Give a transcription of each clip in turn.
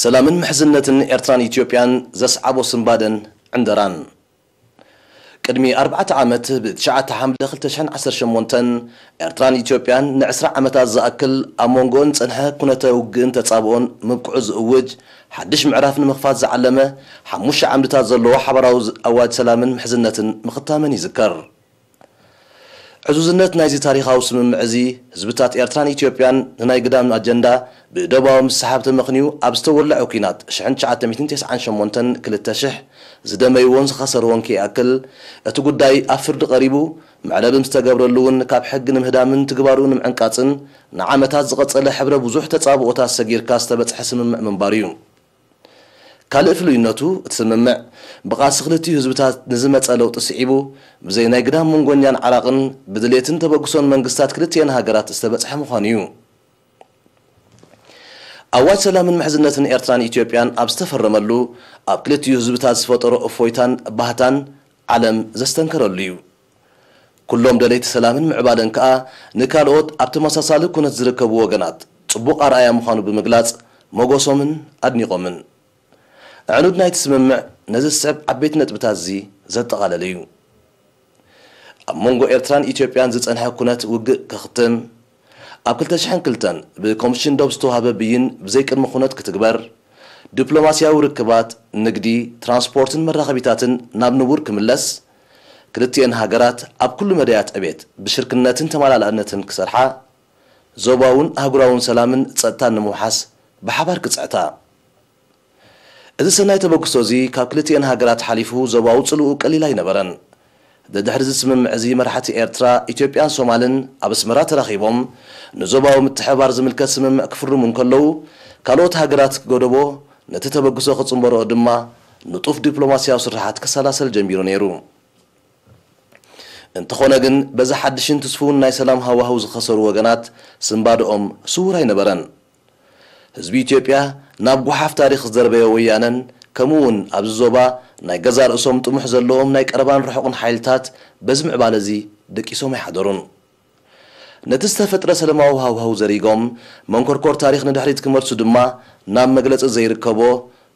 ሰላምን ምሕዝነትን ኤርትራን ኢትዮጵያን ዘስዓቦ ስንባደን ዕንደራን። ቅድሚ ኣርባዕተ ዓመት ብትሽዓተ ሓምለ ክልተ ሽሕን ዓሰርተ ሸሞንተን ኤርትራን ኢትዮጵያን ንዕስራ ዓመታት ዝኣክል ኣብ መንጎኦን ዝጸንሐ ኩነተ ውግእን ተጻብኦን ምብቅዑ ዝእውጅ ሓድሽ ምዕራፍ ንምኽፋት ዝዓለመ ሓሙሽተ ዓምድታት ዘለዎ ሓባራዊ ኣዋጅ ሰላምን ምሕዝነትን ምኽታመን ይዝከር። ዕዙዝነት ናይዚ ታሪኻዊ ስምምዕ እዚ፣ ህዝብታት ኤርትራን ኢትዮጵያን ንናይ ግዳም ኣጀንዳ ብደባዊ ምስሓብ ተመኽንዩ ኣብ ዝተወለዐ ኲናት ሽሕን ትሽዓተ ሚእትን ተስዓን ሸሞንተን ክልተ ሽሕ ዝደመይዎን ዝኸሰርዎን ከይኣክል፣ እቲ ጉዳይ ኣብ ፍርዲ ቀሪቡ መዕለቢ ምስ ተገብረሉ እውን ካብ ሕጊ ንምህዳምን ትግባሩ ንምዕንቃጽን ንዓመታት ዝቐጸለ ሕብረ ብዙሕ ተጻብኦታት ሰጊርካ ዝተበጽሐ ስምምዕ ምንባሩ እዩ። ካልእ ፍሉይነቱ፣ እቲ ስምምዕ ብቓልሲ ክልቲኡ ህዝብታት ንዝመጸ ለውጢ ስዒቡ፣ ብዘይ ናይ ግዳም መንጎኛን ዓራቕን ብድሌትን ተበግሶን መንግስታት ክልቲኤን ሃገራት ዝተበጽሐ ምዃኑ እዩ። ኣዋጅ ሰላምን ምሕዝነትን ኤርትራን ኢትዮጵያን ኣብ ዝተፈረመሉ፣ ኣብ ክልቲኡ ህዝብታት ዝፈጠሮ እፎይታን ባህታን ዓለም ዘስተንከረሉ እዩ። ኩሎም ደለይቲ ሰላምን ምዕባለን ከኣ ንካልኦት ኣብ ተመሳሳሊ ኩነት ዝርከቡ ወገናት ጽቡቕ ኣርኣያ ምዃኑ ብምግላጽ ሞጎሶምን ኣድኒቖምን። ኣዕኑድ ናይቲ ስምምዕ ነዚ ዝስዕብ ዓበይቲ ነጥብታት እዚ ዘጠቓለለ እዩ። ኣብ መንጎ ኤርትራን ኢትዮጵያን ዝጸንሐ ኩነት ውግእ ክኽትም፣ ኣብ ክልተ ሽሕን ክልተን ብኮሚሽን ዶብ ዝተዋህበ ብይን ብዘይ ቅድመ ኩነት ክትግበር፣ ዲፕሎማስያዊ ርክባት፣ ንግዲ፣ ትራንስፖርትን መራኸቢታትን ናብ ንቡር ክምለስ፣ ክልቲኤን ሃገራት ኣብ ኩሉ መዳያት ዕቤት ብሽርክነትን ተመላላእነትን ክሰርሓ፣ ዞባውን ኣህጉራውን ሰላምን ጸጥታን ንምውሓስ ብሓባር ክጽዕታ። እዚ ሰናይ ተበግሶ እዚ ካብ ክልቲኤን ሃገራት ሓሊፉ ዞባዊ ጽልኡ ቀሊል ኣይነበረን። ደድሕሪ እዚ ስምምዕ እዚ መራሕቲ ኤርትራ፣ ኢትዮጵያን ሶማልን ኣብ ኣስመራ ተራኺቦም ንዞባዊ ምትሕብባር ዝምልከት ስምምዕ ክፍርሙ እንከለዉ፣ ካልኦት ሃገራት ክገደቦ፣ ነቲ ተበግሶ ክጽንበርኦ ድማ ንጡፍ ዲፕሎማስያዊ ስርሓት ክሰላሰል ጀሚሩ ነይሩ። እንተኾነ ግን፣ በዚ ሓድሽን ትስፉውን ናይ ሰላም ሃዋህው ዝኸሰሩ ወገናት ስንባደኦም ስዉር ኣይነበረን። ህዝቢ ኢትዮጵያ ናብ ጓሓፍ ታሪኽ ዝደርበዮ ወያነን፣ ከምኡ እውን ኣብዚ ዞባ ናይ ገዛእ ርእሶም ጥሙሕ ዘለዎም ናይ ቀረባን ርሑቕን ሓይልታት በዚ ምዕባለ እዚ ደቂሶም ኣይሓደሩን። ነቲ ዝተፈጥረ ሰላማዊ ሃዋህው ዘሪጎም፣ መንኮርኮር ታሪኽ ንድሕሪት ክመልሱ ድማ ናብ መግለጺ ዘይርከቦ፣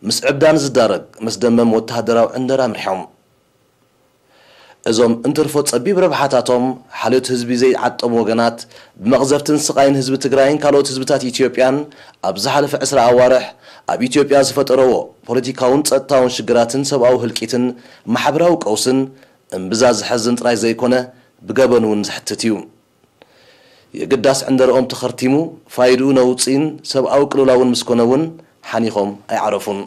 ምስ ዕብዳን ዝዳረግ መስደመም ወተሃደራዊ ዕንደራ ኣምሪሖም። እዞም እንትርፎ ጸቢብ ረብሓታቶም ሓልዮት ህዝቢ ዘይዓጠሙ ወገናት፣ ብመቕዘፍትን ስቓይን ህዝቢ ትግራይን ካልኦት ህዝብታት ኢትዮጵያን ኣብ ዝሓለፈ ዕስራ ኣዋርሕ ኣብ ኢትዮጵያ ዝፈጠረዎ ፖለቲካውን ጸጥታውን ሽግራትን ሰብኣዊ ህልቂትን ማሕበራዊ ቀውስን እምብዛ ዘሐዝን ጥራይ ዘይኮነ፣ ብገበን እውን ዘሕትት እዩ። የግዳስ ዕንደርኦም ተኸርቲሙ፣ ፋይድኡ ነውጺን ሰብኣዊ ቅልውላውን ምስ ኮነ እውን ሓኒኾም ኣይዓረፉን።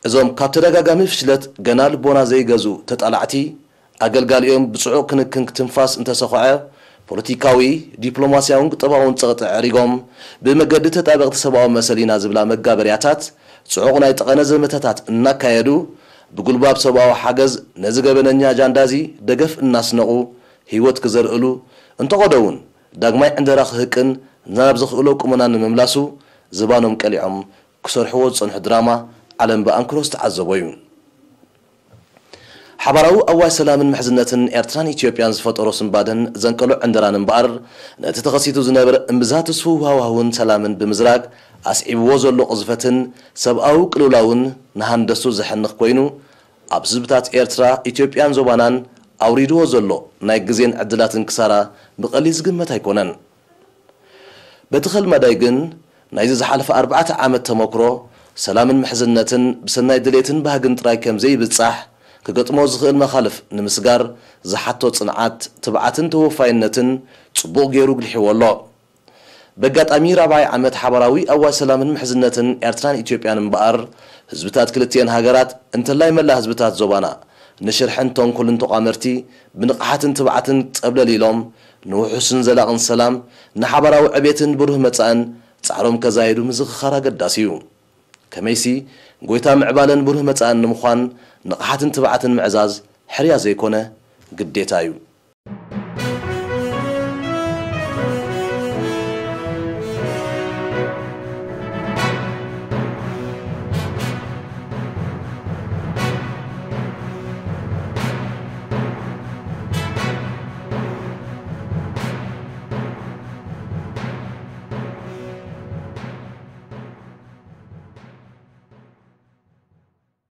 እዞም ካብ ተደጋጋሚ ፍሽለት ገና ልቦና ዘይገዝኡ ተጣላዕቲ፣ ኣገልጋሊኦም ብጽዑቕ ክንክን ክትንፋስ እንተሰኹዐ፣ ፖለቲካዊ፣ ዲፕሎማስያውን ቁጠባውን ጸቕጢ ኣዕሪጎም፣ ብመገዲ ተጣበቕቲ ሰብኣዊ መሰል ኢና ዝብላ መጋበርያታት ጽዑቕ ናይ ጠቐነ ዘመተታት እናካየዱ፣ ብጉልባብ ሰብኣዊ ሓገዝ ነዚ ገበነኛ ኣጃንዳ እዚ ደገፍ እናስነቑ ህይወት ክዘርእሉ፣ እንተቐዶ እውን ዳግማይ ዕንደራ ክህቅን ናብ ዝኽእሎ ቁመና ንምምላሱ ዝባኖም ቀሊዖም ክሰርሕዎ ዝጸንሑ ድራማ ዓለም ብኣንክሮ ዝተዓዘቦ እዩ። ሓባራዊ ኣዋጅ ሰላምን ምሕዝነትን ኤርትራን ኢትዮጵያን ዝፈጠሮ ስንባደን ዘንቀሎ ዕንደራን እምበኣር፣ ነቲ ተኸሲቱ ዝነበረ እምብዛ ትስፉው ሃዋህውን ሰላምን ብምዝራግ ኣስዒብዎ ዘሎ ቅዝፈትን ሰብኣዊ ቅልውላውን ንሃንደስቱ ዘሕንኽ ኮይኑ፣ ኣብ ህዝብታት ኤርትራ፣ ኢትዮጵያን ዞባናን ኣውሪድዎ ዘሎ ናይ ግዜን ዕድላትን ክሳራ ብቐሊል ዝግመት ኣይኮነን። በቲ ኸልማዳይ ግን፣ ናይዚ ዝሓለፈ ኣርባዕተ ዓመት ተመክሮ፣ ሰላምን ምሕዝነትን ብሰናይ ድሌትን ባህግን ጥራይ ከም ዘይብጻሕ፣ ክገጥሞ ዝኽእል መኻልፍ ንምስጋር ዝሓቶ ጽንዓት፣ ትብዓትን ተወፋይነትን ጽቡቕ ገይሩ ኣጉሊሕዎ ኣሎ። በጋጣሚ ራብዓይ ዓመት ሓባራዊ ኣዋጅ ሰላምን ምሕዝነትን ኤርትራን ኢትዮጵያን እምበኣር፣ ህዝብታት ክልቲኤን ሃገራት፣ እንተላይ መላእ ህዝብታት ዞባና፣ ንሽርሕን ተንኮልን ተቋመርቲ ብንቕሓትን ትብዓትን ጸብለል ኢሎም፣ ንውሑስን ዘላቕን ሰላም፣ ንሓባራዊ ዕቤትን ብሩህ መጻእን ጻዕሮም ከዛይዱ ምዝኽኻር ኣገዳሲ እዩ። ከመይሲ፣ ጎይታ ምዕባለን ብሩህ መጻእን ንምዃን ንቕሓትን ትብዓትን ምዕዛዝ ሕርያ ዘይኮነ፣ ግዴታ እዩ።